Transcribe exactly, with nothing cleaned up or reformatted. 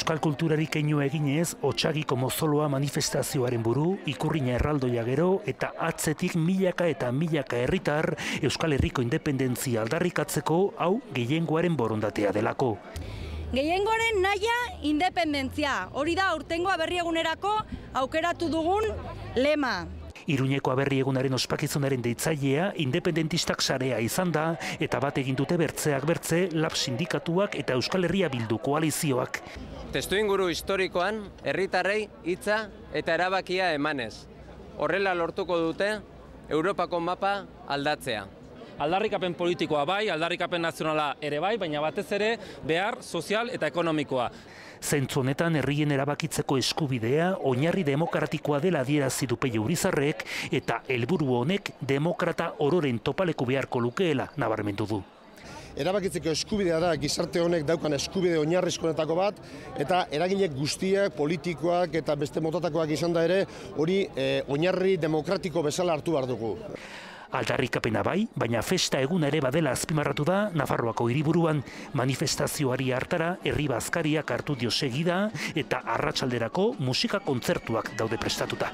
Euskal kulturari keinu eginez, Otsagiko mozoloa manifestazioaren buru, ikurrina erraldoia gero eta atzetik milaka eta milaka herritar Euskal Herriko independentzia aldarrikatzeko hau gehiengoaren borondatea delako. Gehiengoaren nahia independentzia, hori da aurtengo aberri egunerako aukeratu dugun lema. Iruñeko aberri egunaren ospakizunaren deitzailea independentistak sarea izan da eta bat egin dute bertzeak bertze lab sindikatuak eta Euskal Herria Bildu koalizioak. Testuinguru historikoan herritarrei hitza eta erabakia emanez. Horrela lortuko dute Europako mapa aldatzea. Aldarrikapen politikoa bai, aldarrikapen nazionala ere bai, baina batez ere behar sozial eta ekonomikoa. Zentzu honetan herrien erabakitzeko eskubidea oinarri demokratikoa dela adierazi du Pello Urizarrek eta helburu honek demokrata ororen topaleku beharko lukeela nabarmendu du. Erabakitzeko eskubidea da gizarte honek daukan eskubide oinarrizkoenetako bat eta eraginek guztiak, politikoak eta beste motatakoak izan da ere hori eh, oinarri demokratiko bezala hartu behar dugu. Aldarrikapena bai, baina festa egun ere badela azpimarratu da Nafarroako hiriburuan manifestazioari hartara herri bazkariak hartu dio segida eta arratsalderako musika kontzertuak daude prestatuta.